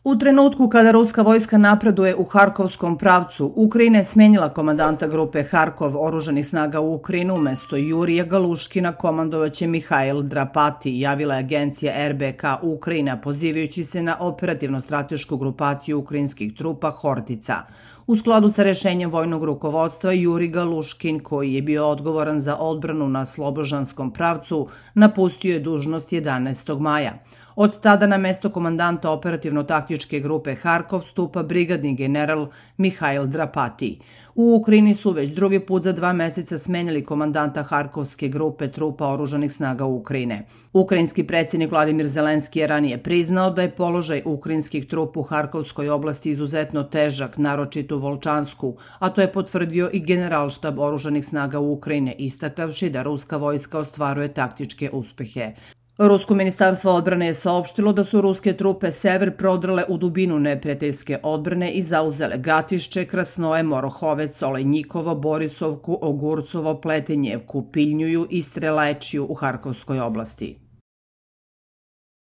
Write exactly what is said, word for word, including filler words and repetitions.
U trenutku kada ruska vojska napreduje u Harkovskom pravcu, Ukrajina je smenila komandanta grupe Harkov oružanih snaga u Ukrajinu umesto Jurija Galuškina komandovaće Mihail Drapati, javila je agencija R B K Ukrajina, pozivajući se na operativno-stratešku grupaciju ukrajinskih trupa Hortica. U skladu sa rešenjem vojnog rukovodstva, Juri Galuškin, koji je bio odgovoran za odbranu na Slobožanskom pravcu, napustio je dužnost jedanaestog maja. Od tada na mesto komandanta operativno-taktičke grupe Harkov stupa brigadni general Mihail Drapati. U Ukrajini su već drugi put za dva meseca smenjali komandanta Harkovske grupe trupa oružanih snaga Ukrajine. Ukrajinski predsjednik Vladimir Zelenski je ranije priznao da je položaj ukrajinskih trupa u Harkovskoj oblasti izuzetno težak, naročito u Volčansku, a to je potvrdio i generalštab oružanih snaga Ukrajine, istakavši da ruska vojska ostvaruje taktičke uspehe. Rusko ministarstvo odbrane je saopštilo da su ruske trupe sever prodrale u dubinu neprijateljske odbrane i zauzele Gatišće, Krasnoje, Morohovec, Olejnikovo, Borisovku, Ogurcovo, Pletenjevku, Piljnjuju i Strelečiju u Harkovskoj oblasti.